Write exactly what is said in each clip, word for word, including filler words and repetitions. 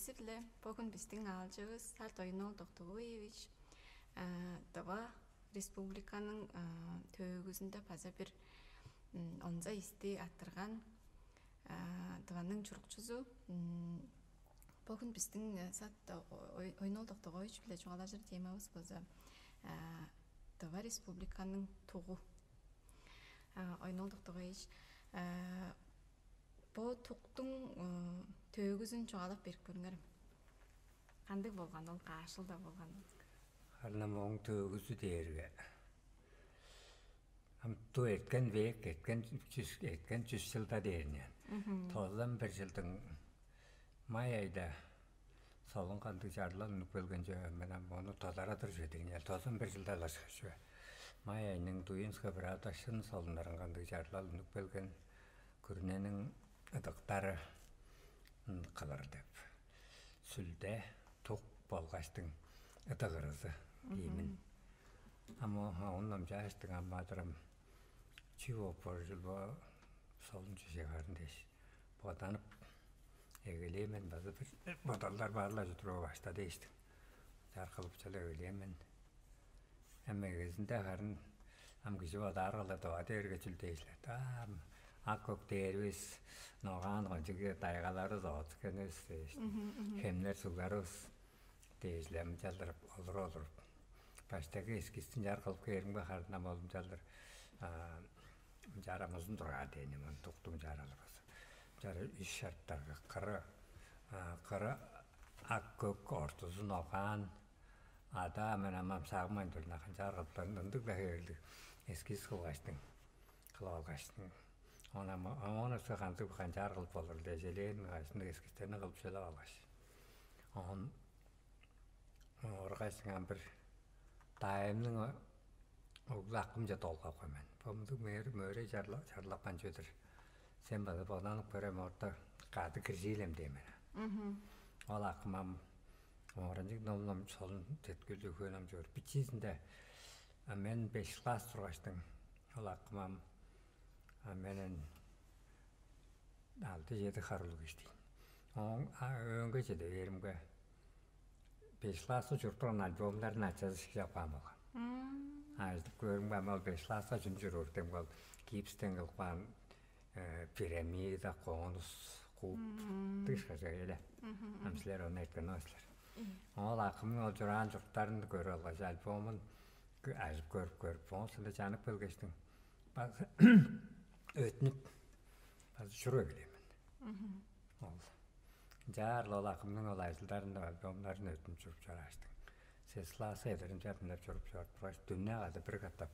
Четтирдим-ле, бөгүн бистиң аалчывыс Сарт Оюн-оол Доктугуевич Тыва Республиканың төөгүзүнде база бир онза исти аттырган Тываның чурукчузу. Бөгүн бистиң Сарт Оюн-оол Доктугуевич-биле чугаалажыр темавыс болза Тыва Республиканың тугу. Оюн-оол Доктугуевич, бо туктуң төөгүзүн чугаалап берип көрүңерем. Кандыг болган ол, каш чылда болган? Харын ам ооң төөгүзү дээрге, ам ту эрткен век, эрткен чүс, эрткен чүс чылда дээрни. Тозан бир чылдың май айда солун кандыг чарлал үнүп келген чүве, мен ам ону тодарадыр чүве дегин, тозан бир чылда алышкаш чүве. Май айның Дуинская правда шын солуннарын кандыг чарлал үнүп келген, күрүнениң ыдыктары кылыр деп, сүлде, тук болгаштың ыдык ырызы иймин. Ам оон номчааштың, ам адырам чүү бооп боор чүл бо, солун чүве харын дээш боданып эгелээн мен, база бир бодалдар бар-ла чүдүр башта дээштиң. Чар кылып чалып эгелээн мен. Эми эгезинде харын ам кижи бодаар кылдыр, Тыва дээрге чүл дээш-ле, ам ак-көк дээрбис, ногаан кончуг тайгаларывыс, оът-сикенивис дээш, хемнер, сугларывыс дээш-ле, ам чалдырып олуруп-олуруп, баштайгы эскизин чар кылып кээримге, харын ам ол ам чалдыр, ам чарам узун тургаар дээн мен, туктуң чаралы база. Чары үш шарттарга: кыры, кыры ак-көк, ортузу ногаан, ада мен ам сагынмайн турдум, канчаар кылыптарын ындыг-ла хевирлиг эскиз кылгаштың, кылып алгаштың. Оон ам оон өске кандыг канчаар кылып болур дээш, элээн ынчалдыр эскизтерни кылып чүлеп алгаш, оон оргаш, ам бир дайымның оглу акымче долгапкан мен. Бо мындыг мөөрей чарлап каан чүве-дир. Сен база боданып көрем, орта кады киржиилем дээн мен. Ол акым ам оранчык ном-ном солун теткилдиг хөөн ам чүве-дир. Бичиизинде мен беш класс тургаштың, ол акым ам, а мен алды-чеди харлыг кижи ийин. Ооң өөнге чеде бээримге, беш класска чуруп турган альбомнарын ачазы шиглеп каан болган. Ажыдып көөрүмге, ам ол беш класска чүнү чуруур дем, ол гипстен кылып каан пирамида, конус, куб дыш кажа эле. Ам силер ону эрткен силер. Ол акымның ол чураан чуруктарын көрүп алгаш, альбомун ажып көрүп-көрүп, оон соонда чанып келгештиң, база өтүнүп, база чуруп эгелээн мен. Ол ынчаарыл ол акымның ол ажылдарын, альбомнарын өттүнүп чуруп чорааштың. Сес класска чедир ынчап-мынчап чуруп чоруп тургаш, дүне када бир катап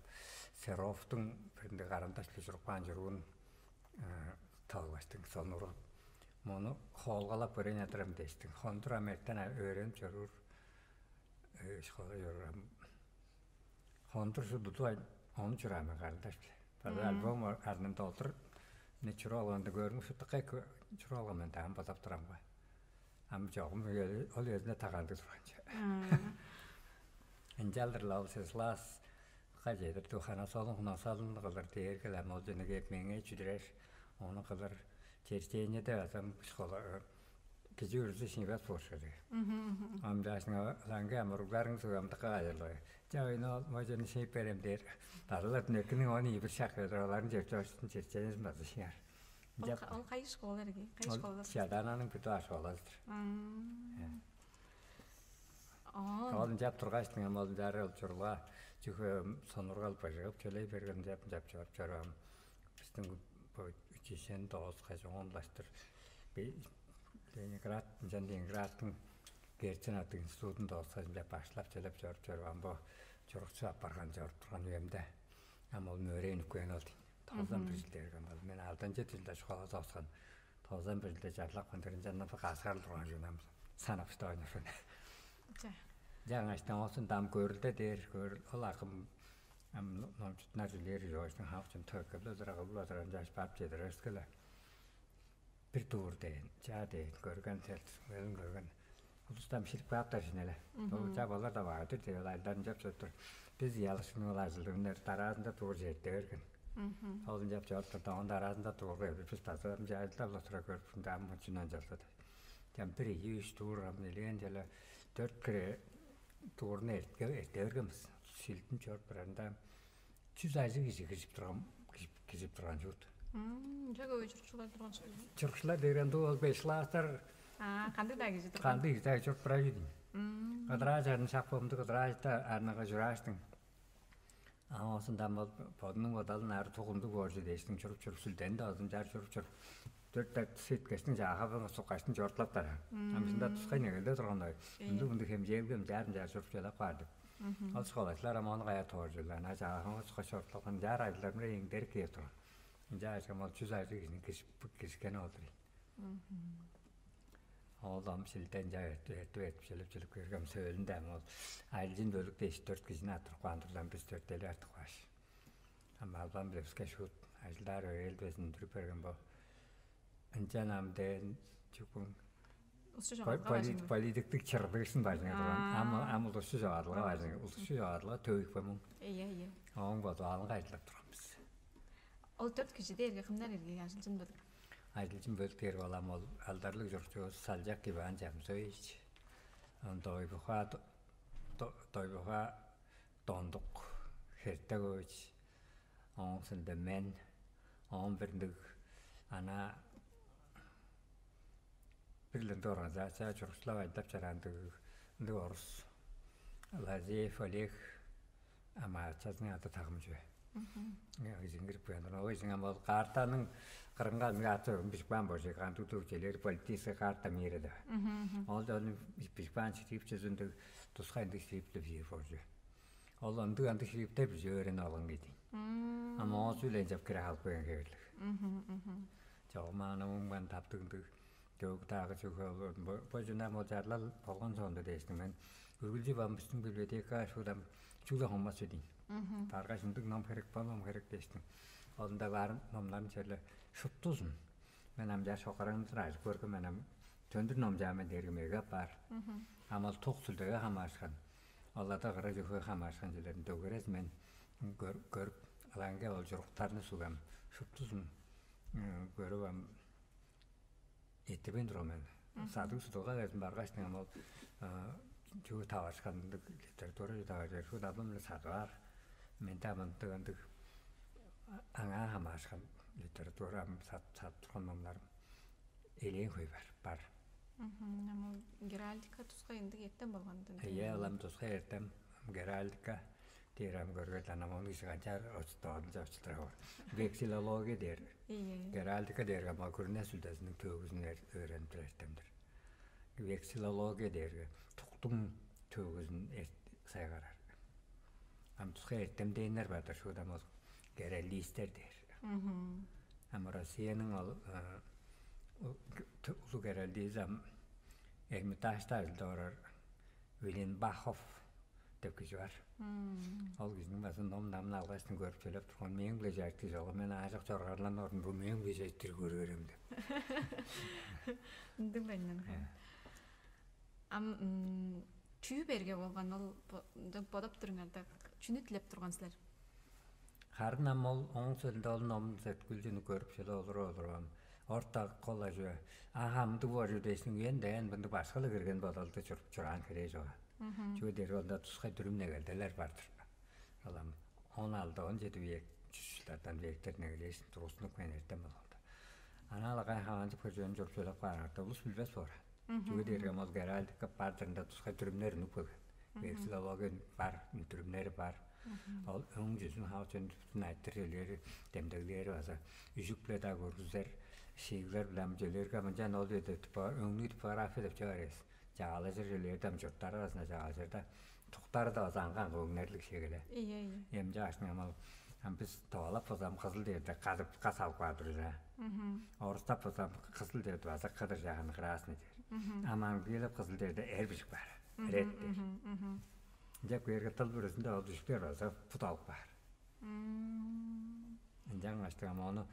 Серовтуң бир ындыг карандаш-биле чуруп каан чуруун тып алгаштың, сонуургап, мону хоолгалап көрейн адырам дээштиң. Хондур ам эртен өөренип чоруур, школа чоруур ам. Хондур шудуду ону чураан мен карандаш-биле. База альбом арнында олдур, не чуруп алганда көрүңү шуптукай чуруп алган мен даан бодап турамга. Ам чогум ол өзүнө тагандыг турган чүве. Ынчалдыр-ла ол сес класска чедир духана солун хунасалын кылыр дээрге-ле, ам ол жөнү кээп меңээ чүдүрер, ону кылыр. Черчениеде база школа кижи бүрүзү шиңбес болуш керек. Ам чаашыңа лаңгы амыругларың сугамдыкка кайырлы. Ча ойну ол мажаны шиип берем дээр. Базылар дүнеккиниң он ийи бир шак оларын чеп чоруштун черченезин база шиңер. Ол кайы школа эрге? Кайы школа? Чадананың бүтү ашколазыдыр. Ол ынчап тургачтың, ам ол ынчаар ол чурулга чүхө сонургал быжыгып чөлей берген, ынчап ынчап чоруп чораам. Биздин бо училищени дооскаш, оон улаштыр Ленинград, ынчан Ленинградтың Герцен аттыг институтун дооскаш, ынчап баштап чөлеп чоруп чораам. Бо чурукчу апарган чоруп турган үемде, ам ол мөөрей үнүп кээн ол дейн. Тозан бир чылда эрген бол. Мен алданчы чылда школа дооскан, тозан бир чылда чарлапкан диринче ынчан каскарыл турган чүве ам санап штаан. Ча. Жаңаштан оозун дам көрүлде дээр, көрүл ол акым ам номчутунар чүлээр чоочтун хавчын төккебле тура кылбыла турар, жаш барып чедирерискеле. Бир дуур дээн, чаа дээн, көрген, селтиспелин көрген. Улустан шилип кааптар шин эле. Бо чап олар да баадыр деп, ол айларын чап чоруптур. Биз ыялышкын ол ажылдыгыннар дараазында дуур черде берген. Ол ынчап чоруптур да, оон дараазында дуурга эбир бис база ынча ажылдап тура көрүп, ында ам чүнү анчалза деп. Чамдыр ийи-үш туурган элээн чала дөрт хире туурну эртке эрте берген бис. Шилдин чоруп турарында чүс ажыг кижи кижип турган кижип турган чуут. Мм, жага өй чурукчулар турган школа. Чурукчулар деген дуу ол беш класстар. А, кандай да кижи турган. Кандай да чуруп турар үйдүн. Кыдыраа чарын шак болумду кыдыраа арнага журааштың. А оосундан бол бодунуң бодалын ары тугунду бооржу дээштиң чуруп-чуруп сүлдени да озунчаар чуруп-чуруп дөрт сеткештиң жааха суккаштын чортлаптар. Амжында тускай негелде турган ой. Ындыг мындыг хемчээлгем жаарым жаар чуруп чалап каар деп. Ол школачылар ама ону кая тооржула. Ана жааган сукка чортлапкан жаар ажылдарымда эңдерик киеп турган. Ынча ажгам ол чүз ажыг кижини киришкен олдур. Ол ам шилден жа эртип эртип чилип чилип киргем сөөлүнде ам ол айлчын бөлүк дээш төрт кижини аттырып каан турлан бис төрт эли артып кааш. Ам албан билебиске шуут ажылдаар өрээлдибезин үндүрүп берген бо. Ынчан ам дээн чукун Ушчу жогадылга бажыңы. Политиктик чырдыышын бажыңа турган. Ам ам улушчу жогадылга бажыңы. Улушчу жогадылга төвүкпе муң. Ийе, ийе. Ооң бодуалынга ажылдап турган бис. Ол төрт кижи дээрге кымнар эргеги ажылчын бөлүк? Ажылчын бөлүк дээр балам ол алдарлыг чурукчувус Салжак Иван Чамсоевич. Онда ойбуха дойбуха Дондук Хертегович, ооң сында мен, оон бир ындыг ана бир ындыг организация чурукчулап айдап чараан ындыг ындыг орус Лазеев Олег, ама ачазының ады тагым чүве. Изиңгирип кыяндыр ол изиң ама ол картаның кырынга ынга аты бижип каан болчу кандыг челер политический карта мира деп. Ол да ону бижип каан шрифт жүзүндүг тускай ындыг шрифт деп жиир болчу. Ол ындыг андыг шрифттер бижип өөренип алган кедий. Ама оозу-биле ынчап кире халып каан хевирлиг. Чогум ана муңман таптыг ындыг дөөг даагы чүгү бо жунам ол чарлал болгон соонда дээштиң мен үргүлчү бам биздин библиотека шуудам чүгле хоммас чүдейн. Баргаш ындыг ном херек бо ном херек дээштиң. Олунда баар номнарын черле шуптузун. Мен ам жаш окараан сыражып көргүм мен ам төндүр номчаан мен дээргим эге апаар. Ам ол тук сүлдеге хамаарышкан. Оларда кыра чүве хамаарышкан чүлерин дөгерес мен көрүп алаанге ол чуруктарны сугам шуптузун көрүп ам Эттебейн турган мен. Садыг судулга кезин баргаш ам ол чүгү таварышкан ындыг литература таваржыр шуут абым эле садып аар. Менде амындык ындыг аңаа хамаарышкан литература ам садып турган номнарым элээн хөй бар бар. Ам ол геральдика тускай ындыг эртем болган. Эйе, ылам тускай эртем геральдика дээр ам көргөт анам ону кижи канчаар очуттаадылча очуттура боор. Вексилология дээр. Геральдика дээрге ма күрүне сүлдезиниң төөгүзүн өөренип тур эртемдир. Вексилология дээрге туктуң төөгүзүн сайгарар. Ам тускай эртемдээннер бар-дыр шууда ам ол геральдистер дээр. Ам Россияның ол улуу геральдизи ам Эрмитажта ажылдап орар Виленбахов деп кижи бар. Ол кижиниң база ном намын алгаш көрүп төлеп турган мээң биле жайык кижи ол мен аажок чоргарлан орун бу мээң биле жайыктыр көрүп берем деп. Ындыг байнан. Ам чүү берге болган ол бодоп туруңарда чүнү тилеп турган силер? Харын ам ол оң сөөлүндө ол ном сеткүлчүнү көрүп шила олуруп олуруп ам орта кол ажы ага ындыг боор чүве дээшиң үен даан мындыг башкылы кирген бодалды чуруп чураан херээ чуга. Чүге дээрге онда тускай дүрүм негелделер бар-дыр. Ол ам он алды он жети век чүс жылдардан вектер негелээшин тургузунуп каан эртем болганда. Анаал агай хаанчып хыржыын чуруп чөлеп каарыңарда улус билбес боор. Чүге дээрге ол геральдика бар-дыр ында тускай дүрүмнер үнүп келген. Вексилология бар, дүрүмнери бар. Ол өң жүзүн хаа чон бүтүн айтыр чөлери, демдеглери база үжүк-биле-даа көргүзер, шииглер-биле ам чөлерге мынчан ол үеде өңнүү типография деп чыгар эвес. Чагаалажыр чөлерде ам чурттар арасында чагаалажырда туктары да база аңган көңнерлиг шегеле. Ийе, ийе. Эмче ашны амал ам бис товалап болзам кызыл дээрде кадыпка салып каар турар. Орустап болзам кызыл дээрде база кыдыр жаганы красный дээр. Ам английлеп кызыл дээрде эр бижик бар. Ред дээр. Деп кээрге тыл бүрүзүндө ол дүшүктер база пут алып каар. Ынчангаш ам ону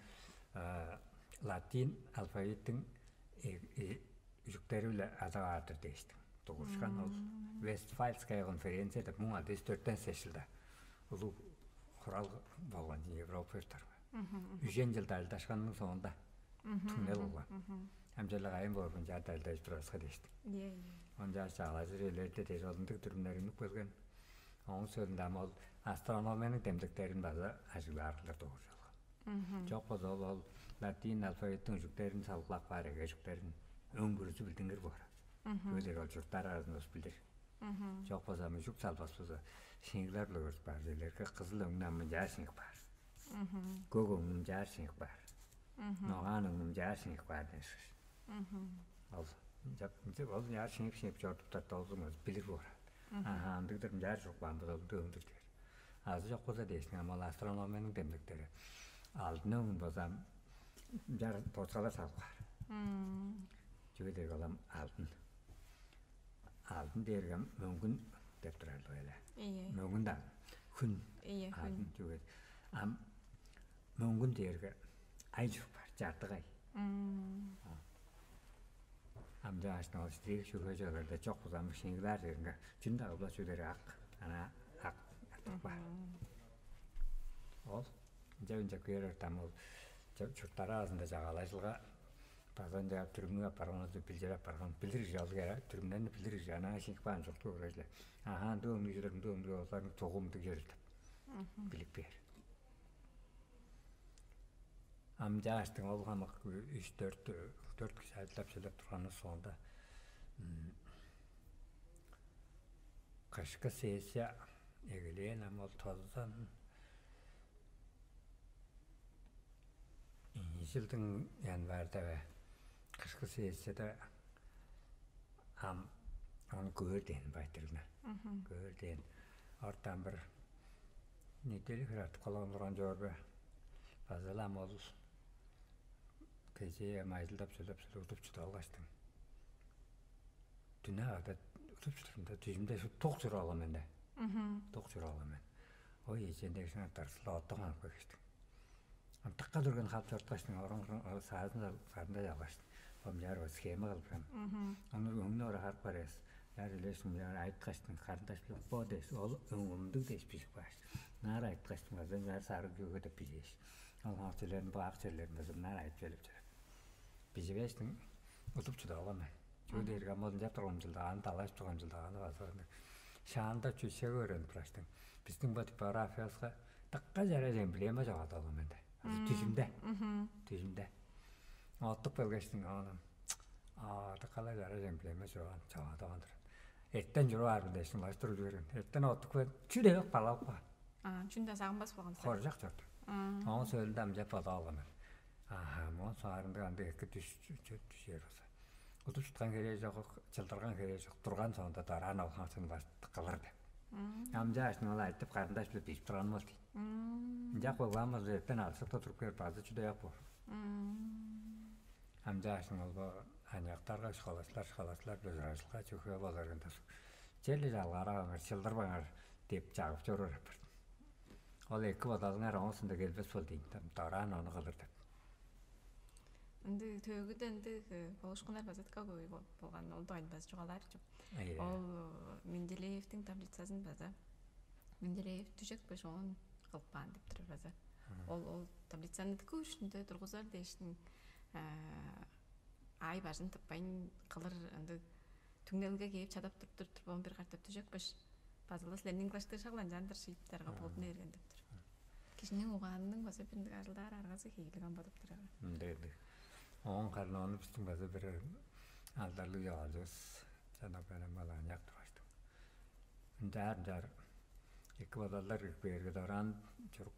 латин алфавиттиң үжүктери-биле адап аар-дыр дээштиң. Дугурушкан ол Вестфальская конференция деп муң алты жүз дөртен сес жылда улуг хурал болган Европа юрттарга. Үжен жылда ажылдашканның соонда Түңнел болган. Амчалыг айын боорбун чаа дайылдажып тураска дээштиң. Ийе, ийе. Он чааш чаалажыр элерде дээш олундуг дүрүмнер үнүп келген. Оон сөөлүнде ам ол астрономияның демдектерин база ажыглаар кылдыр догуржулган. Чок болза ол, ол латин алфавиттиң үжүктерин салгылап каар эгежиктерин өң бүрүзү билдингир боор. Чүге дээрге ол чурттар аразында ус билдир. Чок болза ам үжүк салбас болза, шиңиглер-биле көрүп каар чүвелерге кызыл өңнү ам мынчаар шиңип каар. Көк өңнү мынчаар шиңип каар. Ногаан өңнү мынчаар шиңип каар дээш. Ол ынчап ынчап ол мынчаар шиңип шиңип чорудуптар долзуңар билир боор. Аха, ындыгдыр мынчаар чуруп каан болза ындыг өңдүр дээр. Азы чок болза дээштиң ам ол астрономияның демдектери алдын өңүн болза ам мынчаар тооскалар салып каар. Чүге дээрге ол ам алдын. Алдын дээрге мөңгүн деп турар эле. Ийе. Мөңгүн даан. Хүн. Ийе, хүн. Алдын чүге. Ам мөңгүн дээрге ай чуруп бар, чартык ай. Ам чаашны ол стиль чүге чыгарда чок болза ам шиңгилаар дээринге чүн дагы бла чүдер ак. Ана ак артык бар. Ол ынча ынча кыйырар там ол чурттар аразында чагаалажылга база ынча түрүмнүг апарган, билдир апарган, билдириг чалгыяра, түрүмнерни билдириг чаанаа шиңип каан чуртку көрөжүле. Аха, ындыг өңнүг чүдер, ындыг өңнүг оларның чогум ындыг чүдер деп билип бээр. Ам чааштың ол хамык үч-дөрт дөрт кижи ажылдап сөйлеп турганның соонда кышкы сессия эгелээн ам ол тозан ийи чылдың январьда бе кышкы сессияда ам ону көөр дээн байтырына. Көөр дээн ортан бир неделя хиратып калган турган чоор бе? База-ла ам ол кежээ ам ажылдап сөйлеп сөйлеп удуп чыдып алгаштың. Дүне када удуп чыдырымда дүжүмде тук чуруп алган мен да. Тук чуруп алган мен. Ой, эжендегишиң артарсыла оттон каап кагыштың. Антыкка турган хап чорткаштың, орун саазында сарында чалгаштың. Бомжаар схема кылып каан. Ону өңнө ора харып барыас. Яр үлээшим яр айткаштың, карындаш билип бо дээш, ол өңүмдүг дээш бижип кааш. Наар айткаштың база наар сарыг күүгө деп бижээш. Ол ак черлерин, бо ак черлерин база наар айтып келип чорат. Биживээштиң удуп чыдып алган мен. Чүге дээрге ам ол ынчап турган жылдагааны, далайып турган жылдагааны база шаанда чүсеге өөренип тураштың. Биздиң бо типографияска дыка чараш эмблема чогады алган менде. Азы түжүмде. Түжүмде. Оттуп келгештиң ону дыкалай чараш эмблема чоган чогады алган турат. Эртен чуруп аарбын дээштиң улаштыр үлгерген. Эртен оттуп келген чү дебек балалып каан. А, чүнде сагынмас болган сен. Хоржак чорду. Оон сөөлүнде амчап бодап алган мен. Аха, моон соңарында андыг эки түш түшер болза. Удуп чыткан херээ чок, чылдырган херээ чок, турган соонда дараан алган сен улаштыр кылыр деп. Амчаашны ол айтып карындаш биле бижип турган бол дейт. Ынчак болган болза эртен алсыкта туруп кээп база чүдеяк боор. Амчаашның ол бо аныяктарга школачылар, школачылар биле ужуражылга чүхээ боларгын тосуп, черле чалгаарап аңар, чылдырбаңар деп чагып чоруур апарт. Ол эки бодалыңар оңусунда келбес бол дейн, дораан ону кылыр деп. Ынды төөгүдө ынды болушкуннар база дыка көбөй болган, ол дойн база чугаалаар чүп. Ол Менделеевтиң таблицасын база Менделеев түжекпеш оон кылып каан деп турар база. Ол ол таблицаны дыка үчүндө тургузар дээштин аай бажын тыппайн кылыр ындыг түңнелге кээп чадап туруптур турбоон бир катап түжекпеш. Базылы силерниң кылаштыыр шагланчаан-дыр шииптерге болдуна берген деп тур. Кижиниң угаанының база бир ындыг ажылдаар аргазы хейлиг ам бодуп турар. Ындыг ындыг. Оон харын ону биздин база бир алдарлыг чогаалчыбыз чанап берем балаан яктырбаштым. Ынчаар ынчаар эки бодалдар кирип кээрге дораан чурук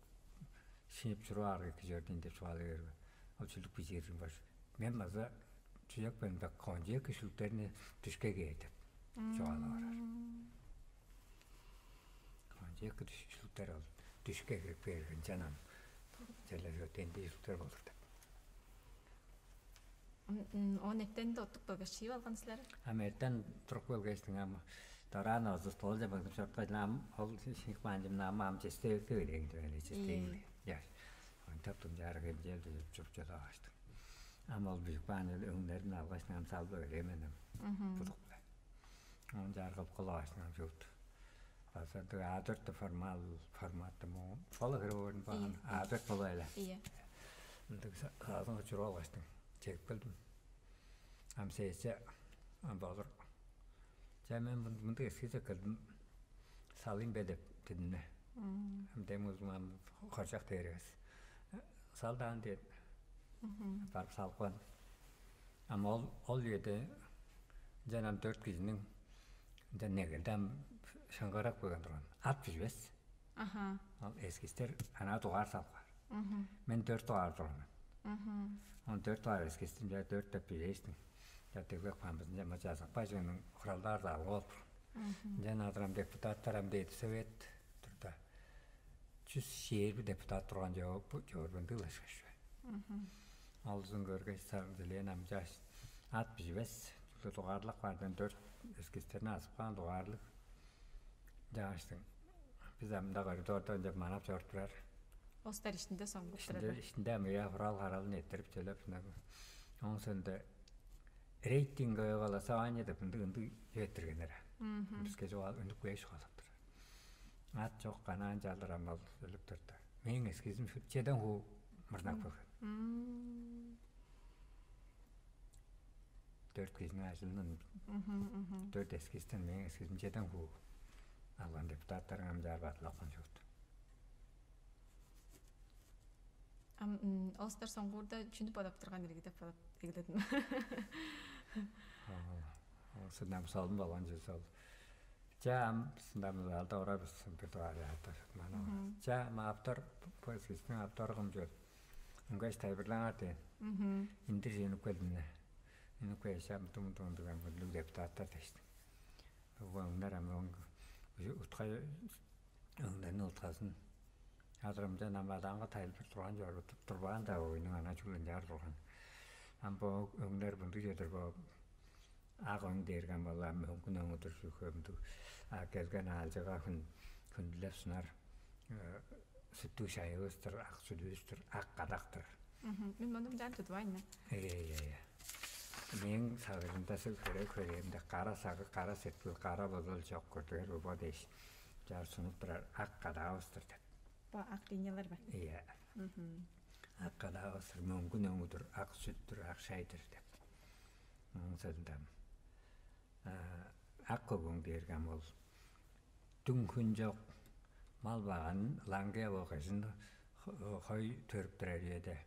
шиип чуруп аарга эки чордуйн деп чугаалай берген. Ол чүлүк бижиирим баш. Мен база чүжек мен бак кончуг эки шүлүктерни дүшке кээр деп чугаалап орар. Кончуг эки шүлүктер ол дүшке кирип кээрген чанам. Черле тенди шүлүктер болур деп. Он эттен оттук болгаш чиип алган силер. Ам эртен туруп келгештиң ам дораан озу столче быгдып чорткаш ам ол шиңик маанчымны ам ам честевекке берейин деп эле честейин. Яш. Онтап тумчаар хемчээлди чуруп чыдаваштым. Ам ол бижик баан өңнерин алгаш нам салып эгелээмен ам. Будук. Он чаар кылып кылаваштым ам чуут. База А дөрт формал форматты му. Бола хире өөрүн баан А дөрт боло эле. Ийе. Ындыг саазынга чуруп алгаштың, чедип келдим. Ам сессия ам болур. Че, мен мындыг эскиз эккелдим, салыйм бе деп дидим-не. Ам дем узум ам хоржак дээр эвес. Салдаан дээп, барып салып каан. Ам ол ол үеде ынчан ам дөрт кижиниң ынчан негелде ам шыңгырак болган турган. Ат биживес. Аха. Ол эскизтер анаа дугаар салып каар. Мен дөрт дугаар турган мен. Он дөрт дугаар эскизтин же дөрт деп билээштиң. Жаттыглап каан бизин жама жазыкпай жыының хуралдаар залга болуп. Ынчан адырам депутаттар ам дээди совет турда. Чүс шээрби депутат турган жоо бу жоорбун дылашкаш. Алзын көргөч сарым дилээн ам жаш ат биживес. Чүгле дугаарлак баардан дөрт эскизтерни азып каан дугаарлыг. Жааштың. Бис амда коридорда ынча манап чоруп турар. Остар ишинде соңгуп турар. Ишинде ам ыяа хурал харалын эттерип төлеп. Оң сонда рейтинговое голосование деп ындыг ындыг чүветтиргеннер. Биске чугаал үнүп кээш калып турар. Ат чок канаан чалдыр амал өлүп турду. Мээң эскизим чеден хуу мырнак болган. Дөрт кижиниң ажылынан дөрт эскизтен мээң эскизим чеден хуу алган депутаттарың амчаар батылапкан чуут. Ам олустар соңгуурда чүнү бодап турган ирги деп бодап эгеледим. Сынам солун болган чүс ол. Ча ам сынам алда ора бис бир дугаар яатар. Мана. Ча ам автор поискистиң автору кым чүл. Ыңгаш тайбырлаңар дээн. Индир жөнүп келдим. Үнүп кээш ам дум дум деген бүрлүг депутаттар дээштим. Бу өңнер ам өң утка өңнерни утказын. Адырымча намадаанга тайлбыр турган чорудуп турбаан-даа, ойнуң ана чүгле ынчаар турган. Ам бо өңнер мындыг чедир бо ак өң дээрге ам ол ам өңгүн өңүдүр чүве мындыг. А келген аалчыга хүн хүндүлеп сунар сүттүг шайывыстыр, ак сүдүвүстүр, ак кадактыр. Мен муну мынчаан тудувайн мен. Э, э, э. Мээң сагыжымда сыл хөре-хөрээмде кара сагы, кара сеткил, кара бодал чок көрдүгер бо дээш. Чаар сунуп турар ак кадаавыстыр деп. Бо ак линиялар бар. Iya. Ак кадаавыстыр мөңгүн өңүдүр, ак сүттүр, ак шайдыр деп. Оң сылдам. Ак көгүң дээрге ам ол дүң хүн чок мал баганын лаңгыя болгажын хой төрүп турар үеде.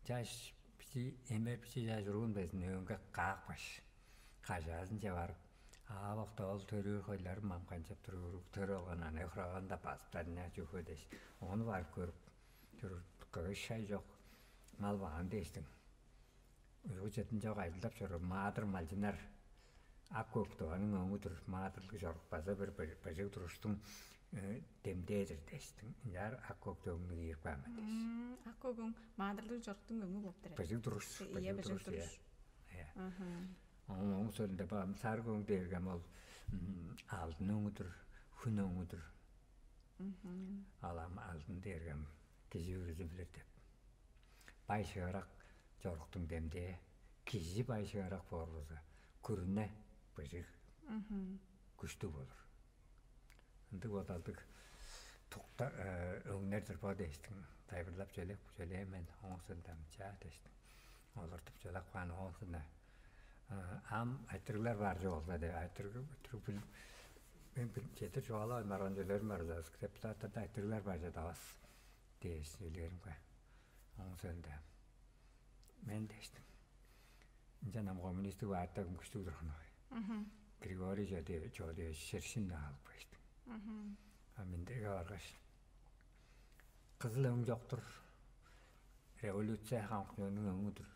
Чаш бичи эмер бичи чаш уруун безин өөнгө каапкаш, кажаазынче барып, аавакта ол төрүүр хойларым ам канчап турур төрүп алган анай хураган-даа базыптарына чүве дээш, ону барып көрүп, чурур кыгыш шай чок мал баган дээштиң. Уйгу чедин чок ажылдап чоруур маадыр малчыннар ак көк дываның өңү-дүр, маадырлыг чорук база бир быжыг туруштуң демдээ-дир дээштиң. Ынчаар ак көк дөвүңнү киирип каан мен дээш. Ак көк өң маадырлыг чоруктуң өңү болуп турар. Быжыг туруш, Ийе, быжыг туруш. Ийе. Оң оң сөлүнде баам сарыг өң дээргем ол алдын өңү-дүр, хүн өңү-дүр. Алам алдын дээргем кижи бүрүзү билир деп. Бай шыырак чоруктуң демдээ, кижи бай шыырак боор болза, күрүне быжыг күштүг болур. Ындыг бодалдыг тукта өңнер-дир бо дээштиң. Тайбырлап чөлеп чөлээн мен оңусундан чаа дээштиң. Олуртуп чөлеп каан оңусунда ам айтырыглар бар чок болза деп айтырыг мен бир четир чугаалап барган чөлөрүм бар депутаттарда айтырыглар бар чадавас дээш үлээримге. Оң сөөлүнде мен дээштим. Ынчан ам коммунистик партия күштүг турган ой. Григорий Чодиевич Шершин алып кештим. А миндеге баргаш кызыл өң жоктур. Революция хамык чоннуң өңү-дүр.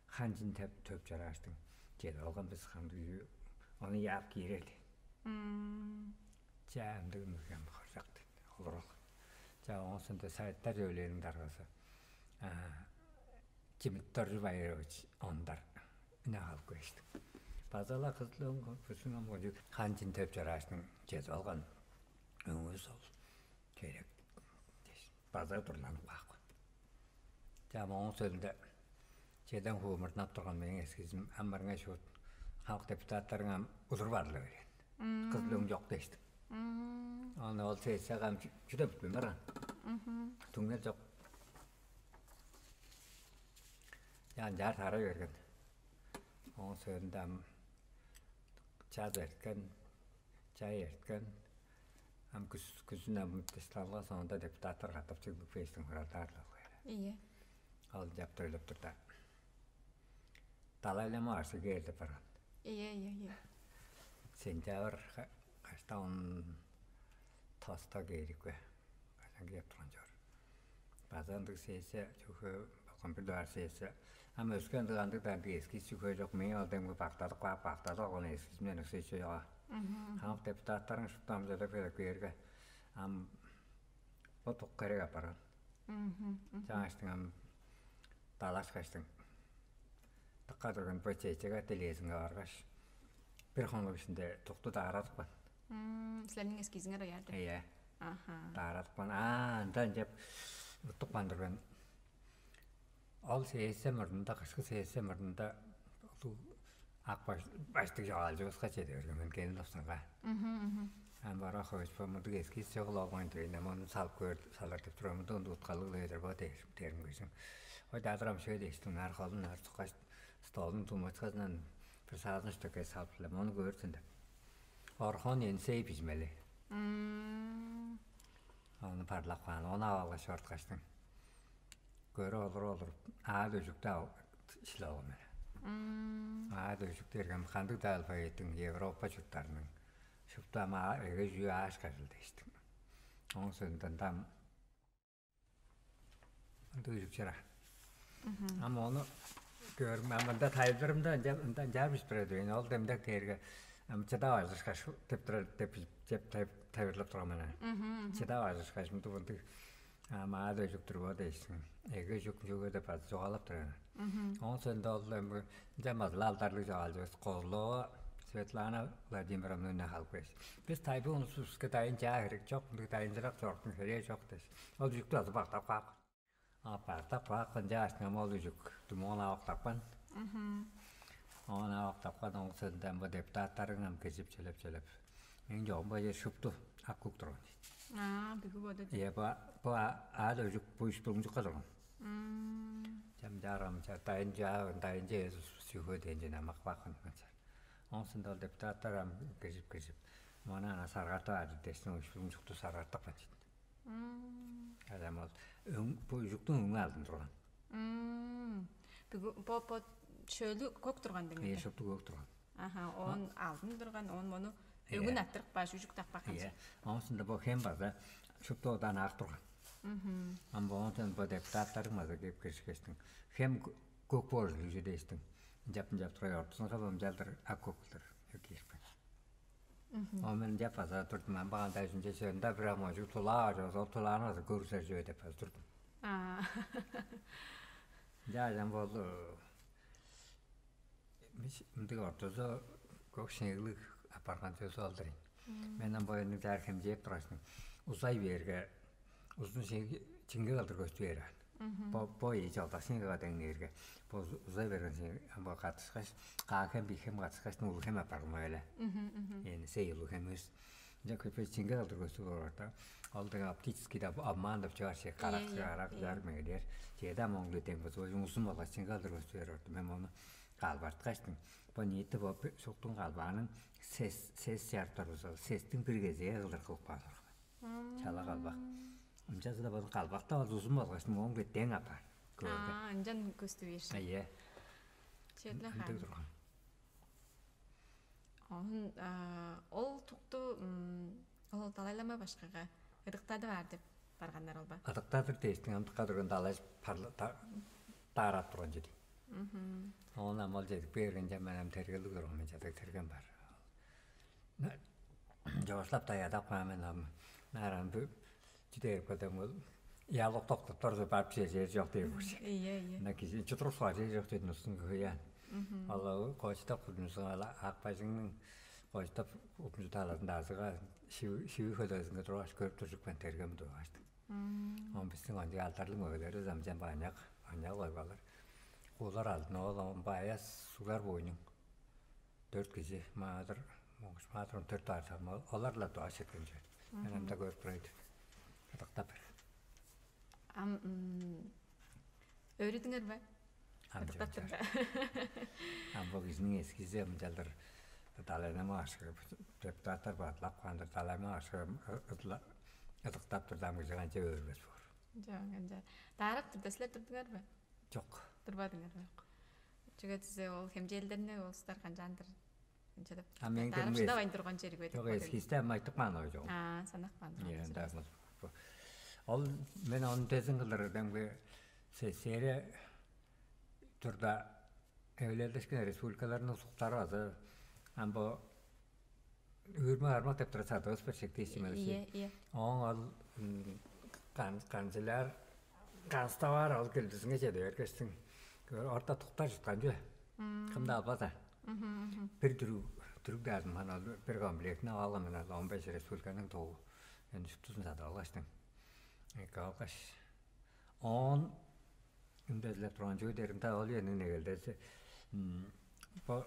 Хан чин деп төп чарааштың. Чеди алган бис хамдыг ону яап киирер ден. Чаа ындыг ындыг хоржак ден. Олурал. Чаа оңусунда советтер жөвлээриң даргазы. Чимит Доржу Байырович ондар үне халып кээштик. Базала кызыл өң көрпүсүң ам ожу хан чин төп чарааштың чеди алган өңүс ол керек. База дурланып каапкан. Чаа моңуң сөөлүнде чеден хуумурдунап турган мээң эскизим ам барыңай шуут хамык депутаттарың ам удур барыла берген. Кызыл өң жок дээштик. Ону ол сессияга ам чүдө бүтпейн барган. Түңнел жок. Ынчаар тарай берген. Ооң соонда ам чаз эрткен, чай эрткен, ам күс, күзүн ам фестивальга соонда депутаттар катап чыглып кээштиң, хуралдаар-ла болгай. Ийе. Ол чаптар өлүп турда, Далай-лама башкы кээр деп барган. Ийе, ийе, ийе. Сентябрь кашта, он тоста кээрип кээр. Кажан кээп турган чоор. База ындыг сессия, чүге болган бир дугаар сессия. Ам өске ындыг андыг-даа ындыг эскиз чүве чок. Мээң ол демги бактадып каап, бактадып алган эскизимден өске чүве чок. Хамык депутаттарың шупту ам чыдып келип кээрге, ам бо тук херек апарган. Чаңгаштың ам далашкаштың, дыка турган бо чечеге делезинге баргаш, бир хонук ишинде тукту даарадыпкан. Силерниң эскизиңер оярды. Ийе. Аха. Даарадыпкан. Аа, ындан чеп уттупкан турган. Ол сессия мурнунда, кышкы сессия мурнунда улуг ак баш, баштыг чогаалчывыска чеде берген мен, Кенин Лопсанга. Ам бара хойшпа мындыг эскиз чогул олгайн дивейн, ам ону салып көөр салар деп турар, мында ону уткалыг-ла эдер бо дээрим көжүң. Ой, даадыр ам шөй дээштиң, нар холун нар цуккаш, столдуң тумачказынан бир саазын штөкке салып-ла, мону көөрсүн деп. Орхон Енисей бижимели. Ону парлап каан, ону ап алгаш чорткаштың. Көрүп олуруп олуруп, аът өжүктү шилип алган мен. Аът өжүк дээрге ам кандыг-даа алфавиттиң, Европа чурттарының шупту ам эге чүү ааш кажыл дээштиң. Ооң соонда ам ындыг үжүк чара. Ам ону көөрүм, ам мында тайылбырымда ынча, ынча ынчаар бижип турар эвейн. Ол демдек дээрге ам чыдап ажырышкаш деп турар деп, деп тайылбырлап турган мен. Чыдап ажырышкаш мынды мындыг ам аът өжүк-түр бо дээшсиң. Эге үжүк чүге деп база чугаалап турар. Ооң соонда ол эми ынчан база-ла алдарлыг чогаалчывыс Козлова Светлана Владимировна үнү халып кээш. Бис тайбы улустувуска дайын чаа херек чок, мындыг дайынчырак чоруктуң херээ чок дээш. Ол үжүктү база бактап каапкан. А бактап каапкан чаашкын ам ол үжүк думугун ап октапкан. Оон ап октапкан, ооң соонда ам бо депутаттарың ам киржип чөлеп-чөлеп. Мээң чогум бо чер шупту ак-көк турган. Аа, бүгү боду. Ийе, бо, бо аът өжүк бо үш булуңчукка турган. Чамчааргам ча дайын чаа, дайын чаа чүве дээн чүве намак бакын канчаар. Ооң соонда ол депутаттар ам киржип-киржип, мону ана саргартып аар дээштиң, уштуң чукту саргартып каан чүве. Адам ол өң, бо үжүктүң өңү алдын турган. Бүгү бо бо шөлү көк турган деңер. Э, шупту көк турган. Аха, оон алдын турган, оон мону өңүн аттырып кааш, үжүк таппак. Ийе. Ооң соонда бо хем база шупту одан ак турган. Ам бо оон бо депутаттарың база кеп киришкештиң. Хем көк боор үжү дээштиң. Ынчап-ынчап тургай, ортузунга бо ынчалдыр ак көк кылдыр киирипкен. Ол мен ынчап база турдум. Ам баганда үжүнче чыырында бир ам ожуг тулаа бар, ол тулааны база көргүзер чүве деп база турдум. Аа. Ынча ажам болду. Мындыг ортузу көк шеңиглиг апарган сөзү ол-дур ийин. Мен ам боюннуң чаар хемчээп тургаш, узай бээрге, узун чиңге кылдыр көстү бээр аан. Бо бо ийи чалдак сиңгага деңнээрге, бо узай берген сиң бо катышкаш, каа хем бий хем катышкаш, улуг хем апарган эле. Эни сей улуг хем өс. Ынча көпей сиңге кылдыр көстү боор да. Ол дег оптический да обман деп чыгар чек карак чыгарак чар мегелер. Чеда моңлу дең бо узун болгаш сиңге кылдыр көстү бээр орду. Мен мону калбарткаштым. Бо ниити бо шуктуң калбааның сес сес чарыптар болза, сестиң бир кезээ кылдыр кылып каан турган. Чала калбак. Ынчалза-даа болза калбакта ол узун болгаш, мооң беттээн апаар. Көөрге. Аа, ынчан көстү бээш. Ийе. Черле хаан. Ындыг турган. Оон ол тукту ол Далай-лама башкыга ыдыктадып аар деп барганнар ол ба? Ыдыктадыр дээштиң, ам дыка турган далай даарап турган чеди. Оон ам ол чедип бээргенче мен ам тергелиг турган мен, чадаг терген бар. Чоокшулап даядап каан мен ам. Нааран бу чүдээрип калдым ол. Ялык токтуптар барып чер чок дээр болчу. Ийе, ийе. Мына кижи чудуруп сугар чер чок дедим устун көйен. Ол кочтап кудумсуң ала ак бажыңның кочтап укмужу талазында азыга шиви хөлөзүнге тургаш көрүп туржук мен тергем тургаштым. Он биздин ончуг алдарлыг мөгелери замчан баняк, баняк ойбалар. Куулар алдын ол баяс сугар бойнуң. Дөрт кижи маадыр, моңгуш маадыр он төрт аар салма, олар-ла дуаш четкен чүве. Мен анда көрүп турайды. Кыдыктап бер. Ам өрүдүңер бе? Ам чок, чок. Ам бо кижиниң эскизи ынчалдыр далайнама башкы, депутаттар бадылап каан-дыр, далайнама башкы ыдыктап турда, ам кижи канча өөрбес боор. Чок, ынча. Даарап турда, силер турдуңар бе? Чок. Турбадыңар бе? Чок. Чүге дизе ол хемчээлдерни ол улустар канчаандыр ынча деп. А мен даарап шыдавайн турган чери бе деп. Чок, эскизде ам айтып каан ой чок. А, санап каан. Ол мен ону дезин кылдыр демге сесере турда, эвелелдешкен республикаларның улустары база ам бо үүрме бармак деп тура садывыс бир шектээшти. Ийе, ийе. Оон ол канчылаар, канставаар ол келдизинге чеде бергештиң. Орта туктар чыткан чүве. Кымда албаза. Бир дүрүг дүрүг даазым хан ол бир комплектини алган мен, он беш республиканың тоогу. Эми шуптузун садып алгаштың. Эки алгаш, оон үндезилеп турган чүве дээринде ол үениң негелдези бо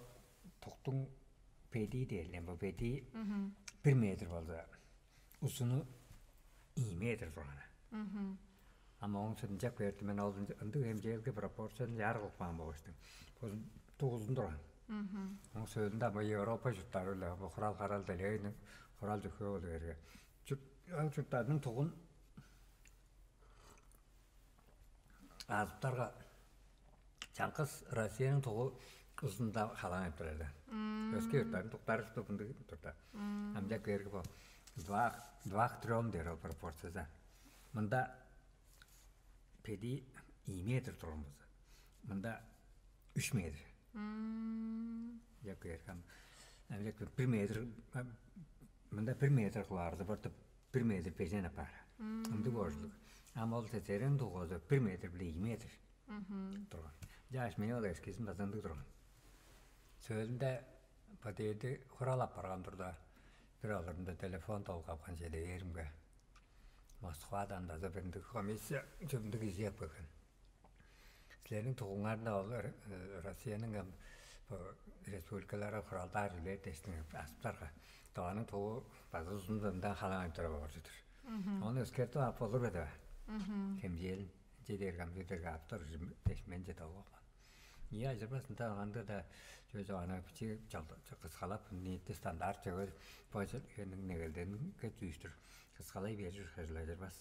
туктуң бедии дээлден, бо бедии бир метр болза, узуну ийи метр турган. Ама ооң сөөлүнче берди мен ол ындыг хемчээлге пропорцияны чаар кылып каан болгаштың. Бо тугузун турган. Ооң сөөлүнде ама Европа чурттары-биле бо хурал харал делегейниң хурал чүхөө болу берге. Чурт, ам чурттарның тугун азыптарга чаңгыс Россияның тугу узунда халаан турар. Өске юрттарның туктары шупту мындыг турда. Амчак берги бо два, два к трём дээр ол пропорцияда. Мында педи ийи метр турган болза, мында үч метр. Амчак берги ам амчак бир метр, мында бир метр кылаарзы бортуп бир метр бежен апаар. Ындыг боожулуг. Ам ол сесерен дугазы бир метр биле ийи метр турган. Жаш мени ол эскизин база ындыг турган. Сөөлүнде подъезди хурал апарган турда, бир олурунда телефон долгапкан чеде бээримге. Москвадан база бир ындыг комиссия чүмдүг кижи келген. Силерниң тугуңарда ол Россияның ам бо республикалары хуралдаар үлээр дээштиң аспарга. Дооның тугу база узундан халаан тура боор чүдүр. Ону өскертип ап болур бе деп. Хемчээлин чедер кам чедерге аптар дээш менче долгапкан. Ийе, ажырбас ынта аңанда да чөй чогана бичи кыскалап ниитти стандарт чөгөр бо негелденге дүүштүр кыскалай берир хыжыл ажырбас.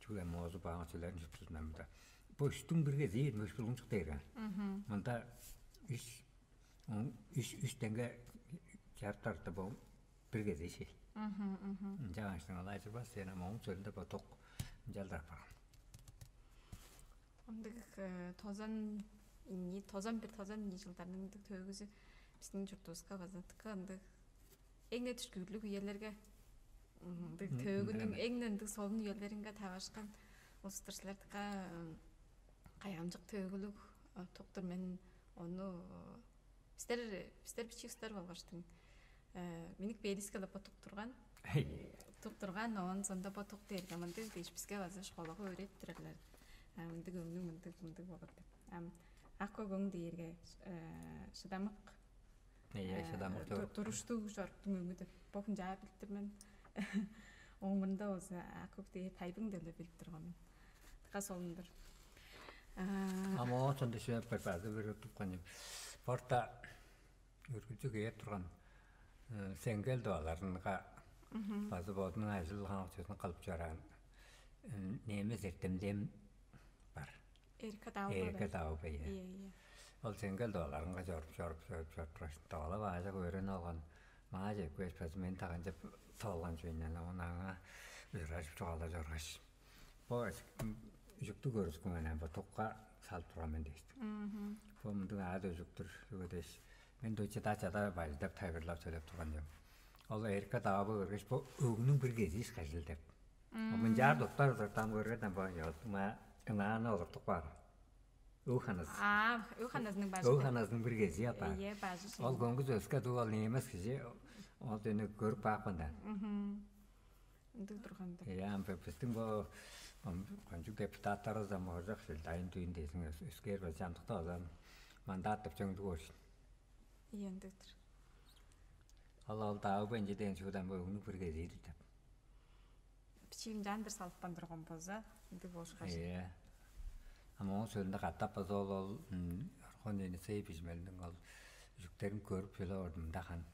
Чүгле моозу баан чүлерин чуптузундан мында. Бо үстүң бир кезии мөш булуңчук дээр. Мында үш үш үш теңге чарыптарты бо бир кезии шил. Ынча аңаштың алай чырбас сен ам оң чөлүнде бо ток ынчалдыр апарган. Ындыг тозан ини тозан бир тозан ини жылдарның ындыг төөгүзү биздин чуртубузга база тыка ындыг эң-не түшкүүрлүг үелерге ындыг төөгүнүң эң-не ындыг солун үелеринге таварышкан улустур силер тыка кайгамчык төөгүлүг туктур мен ону бистер бистер бичии устар болгаштың миник бээдискелеп бо тук турган тук турган оон сонда бо тук дээрге мындыг дээш биске база школага өөредип турарлар мындыг өңнүң мындыг мындыг болур деп ам ак көк өң дээрге шыдамык Ийе, шыдамык туруп. Туруштуг чоруктуң өңү деп бо хунчаа билип тур мен. Оңунда болза көк дээр тайбың деле билип турган мен. Тыка солундур. А моочун дишип база бир тупкан. Порта үргүлчү кээр турган сеңгел дуаларынга база бодунуң ажыл хаакчызын кылып чораан немес эртемдем бар. Эрикка Даавбай. Эрикка Даавбай. Ийе, ийе. Ол сеңгел дооларынга чоруп, чоруп, чоруп, чоруп тургаш, доолап аажок өөрүнүп алган. Маа чепкеш, база мен таганчып тоолган чүвейн, ону аңаа ыражып чугаалап чоргаш. Бо үжүктү көрүскүң анан бо тукка салып турган мен дээштим. Бо мындыг аад өжүктүр үгө дээш. Мен дойче дачада бажыдап тайгырлап сөйлеп турган жок. Ол эрикке даабы көргеш, бо өгнүң бир кезииш кажыл деп. Мынчаар доктор ыртам көргөден бо ёзума ынааны олуртуп каар. Ыл ханызы. А, ыл ханызының бажы. Ыл ханызының бир кези апаар. Ие, бажы. Ол көңгүс өскө дуу ол немес кижи ол дөне көрүп баапкан да. Ындыг турганда. Ие, ам биздин бо кончук депутаттарыбыз ам оржак сил дайын дүйүн десиң өскээр бе жамдыкта озан мандат деп чөңдүг болчун. Ие, ындыгдыр. Ал ол дагы бенче деген чугудан бо өгнү бир кезиир деп. Бичиим жандыр салыппан турган болза, ындыг болушкаш. Ие. Моң сөөлүндө катап база ол, ол Орхон Енисей бижимелиниң ол үжүктерин көрүп чүле ордумда хан.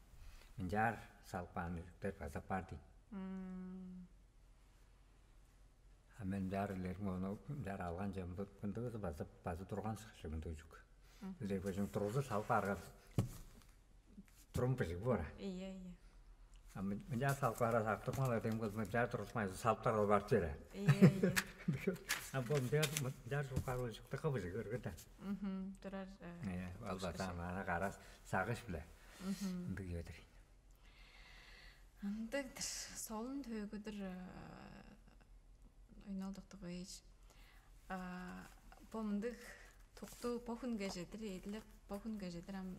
Мынчаар салып каан үжүктер база бар дейт. А мен мынчаар илерим ону мынчаар алган чемди мындыгызы база база турган шыгышымды үжүк. Билер бөжүң тургузу салып арган турум быжыг бора. Ийе, ийе. А мынчаар салып ара сактырмал эдем кыз мынчаар турушмай салыптар ол барып бере. Ийе, ийе. А бу мынчаар мынчаар шугар ол шуктакка быжыг көргөн да. Мгм. Турар. Э, Э, албатан ана карас сагыш биле. Мгм. Ындыг йөдүр. Ындыгдыр. Солун төөгүдүр. Ойнолдуктугуйш. Бо мындыг тукту бо хүнге чедир эдилеп, бо хүнге чедир ам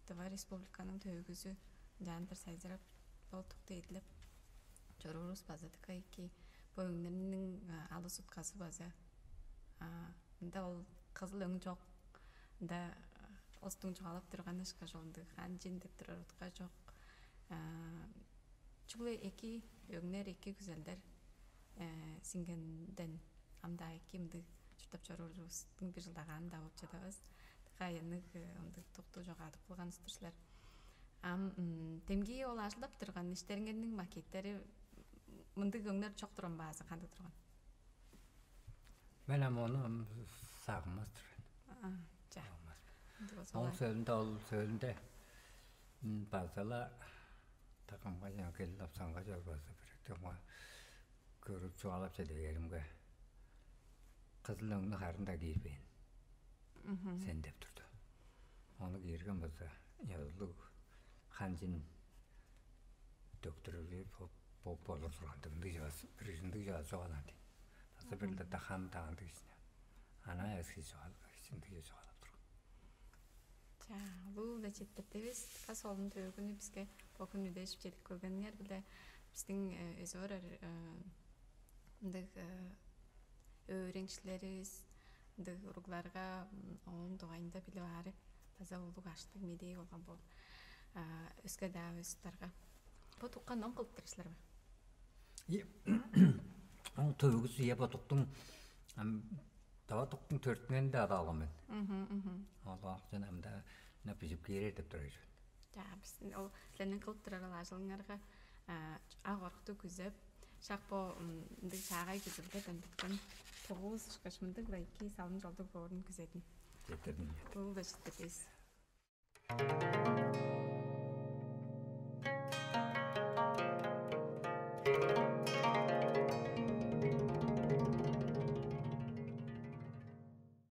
Тыва Республиканың төөгүзү ынчаандыр сайзырап, бо тукту эдилеп чоруурувус база дыка эки. Бо өңнерниң алыс утказы база мында ол кызыл өң чок. Мында остуң чугаалап турганы ышкаш ол ындыг ханчын деп турар утка чок. Чүгле эки өңнер, эки күзелдер сиңгенден ам-даа эки ындыг чурттап чоруурувустуң бир чылдагааны-даа болуп чадавас. Дыка аянныг ындыг тукту чогаадып кылган силер. Ам демги ол ажылдап турган иштериңерниң макеттери мындыг өңнер чок турган баазы кандыг турган? Мен ам ону ам сагынмас-тыр мен. А, ча. Сагынмас. Ындыг болза Ол олар. Сөөлүндө ол сөөлүндө базала такамга жана келип апсанга жол база бир чонга көрүп чугаалап чедегеримге кызыл өңнү харын да киирбээн Мгм. Сен деп турду. Ону киирген болза ёзулуг ханчын дөктүрүлү болур турган дыгындыг жавас бир ындыг жавас жогаан дейт. База бир да хан таандыг ишине. Ана эски жогал ындыг жогалап турган. Чаа, улуу-биле четтирдивис. Кас олун төөгүнү биске бо хүн үдежип чедип келгениңер биле биздин өзү барар ындыг өөреникчилеривис ындыг уругларга оон дугайында билип аары база улуг аштыг медээ болгон боор. Өске-даа улустарга бо тукка ном кылып турар силер бе? Оң төөгүзү я бодуктуң ам дава туктуң төрүттүнүн да ада алган мен. Ол акчаны амда на бижип кээрер деп турар. Жа биздин ол силердин кылып турар ол ажылыңарга ак орукту күзеп шак бо ындыг чаагай күзүлдерден бүткөн тогуз ышкаш мындыг-ла эки салым жолдуг боорун күзедим. Жетирдим. Улуу да жетирдивис.